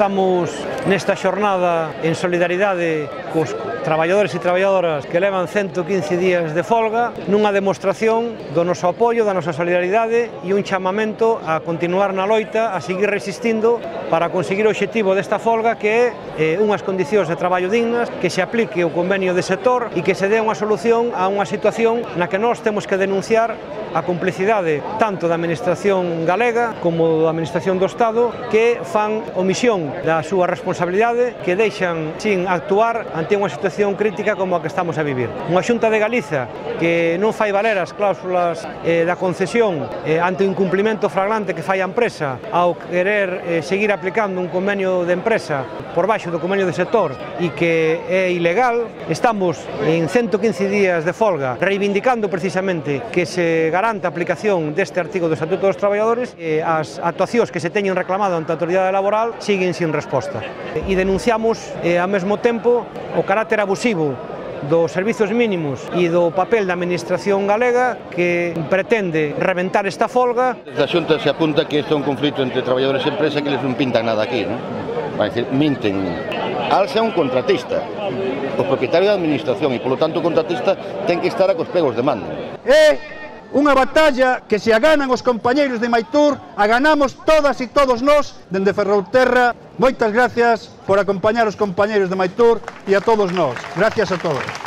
Estamos nesta xornada en solidaridade cos traballadores e traballadoras que levan 115 días de folga, nunha demostración do noso apoio, da nosa solidaridade e un chamamento a continuar na loita, a seguir resistindo para conseguir o obxectivo desta folga, que é unhas condicións de traballo dignas, que se aplique o convenio de sector e que se dé unha solución a unha situación na que nós temos que denunciar a complicidade tanto da Administración galega como da Administración do Estado, que fan omisión da súa responsabilidade, que deixan sin actuar ante unha situación crítica como a que estamos a vivir. Unha Xunta de Galiza que non fai valer as cláusulas da concesión ante o incumprimento flagrante que fai a empresa ao querer seguir aplicando un convenio de empresa por baixo do convenio de sector e que é ilegal. Estamos en 115 días de folga reivindicando precisamente que se garante a aplicación deste artigo do Estatuto dos Traballadores. As actuacións que se teñen reclamado ante a autoridade laboral siguen sin resposta. E denunciamos ao mesmo tempo o carácter abusivo dos servizos mínimos e do papel da Administración galega, que pretende reventar esta folga. Desde a Xunta se apunta que isto é un conflito entre traballadores e empresa, que eles non pintan nada aquí, non? Vai dicir, minten. Alsa é un contratista, o propietario da Administración, e polo tanto o contratista ten que estar a cos pegos de mando. É unha batalla que se a ganan os compañeiros de Maitur, a ganamos todas e todos nós dende Ferrolterra. Moitas gracias por acompañar os compañeiros de Maitur e a todos nós. Gracias a todos.